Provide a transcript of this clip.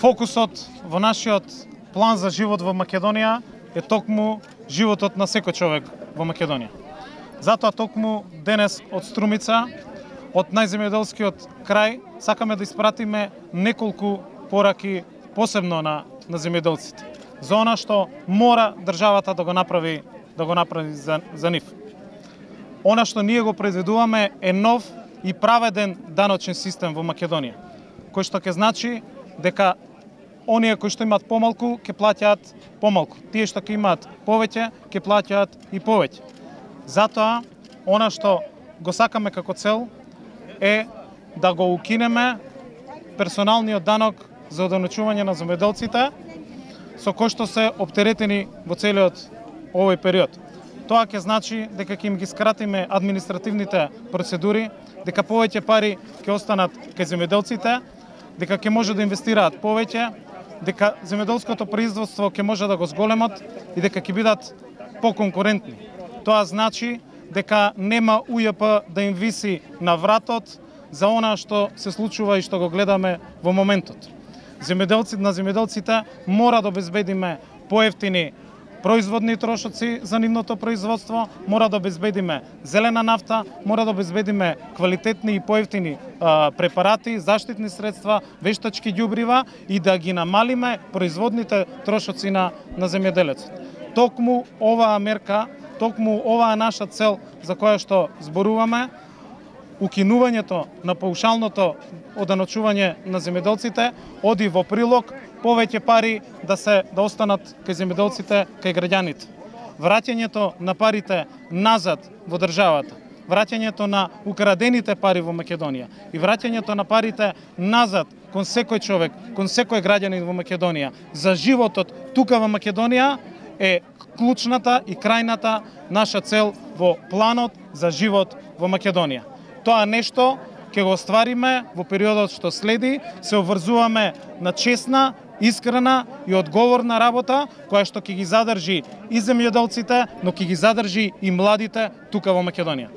Фокусот во нашиот план за живот во Македонија е токму животот на секој човек во Македонија. Затоа токму денес од Струмица, од најземјоделскиот крај, сакаме да испратиме неколку пораки посебно на земјоделците. За она што мора државата да го направи за нив. Она што ние го произведуваме е нов и праведен даночен систем во Македонија, кој што ќе значи дека оние кои што имаат помалку ќе плаќаат помалку, тие што ќе имаат повеќе ќе плаќаат и повеќе. Затоа она што го сакаме како цел е да го укинеме персоналниот данок за одоночување на земјоделците, со кој што се оптеретени во целиот овој период. Тоа ќе значи дека ќе им ги скратиме административните процедури, дека повеќе пари ќе останат кај земјоделците, дека ќе може да инвестираат повеќе, дека земјоделското производство ќе може да го зголемат и дека ќе бидат поконкурентни. Тоа значи дека нема УЈП да им виси на вратот за она што се случува и што го гледаме во моментот. На земјоделците мора да обезбедиме поевтини производни трошоци за нивното производство, мора да обезбедиме зелена нафта, мора да обезбедиме квалитетни и поевтини препарати, заштитни средства, вештачки ѓубрива и да ги намалиме производните трошоци на земјоделецот. Токму оваа мерка, токму оваа наша цел за која што зборуваме, укинувањето на паушалното одоночување на земјоделците оди во прилог повеќе пари да останат кај земјоделците, кај граѓаните. Враќањето на парите назад во државата, враќањето на украдените пари во Македонија и враќањето на парите назад кон секој човек, кон секој граѓанин во Македонија за животот тука во Македонија е клучната и крајната наша цел во планот за живот во Македонија. Тоа нешто ќе го оствариме во периодот што следи, се обврзуваме на честна, искрена и одговорна работа, која што ќе ги задржи и земјоделците, но ќе ги задржи и младите тука во Македонија.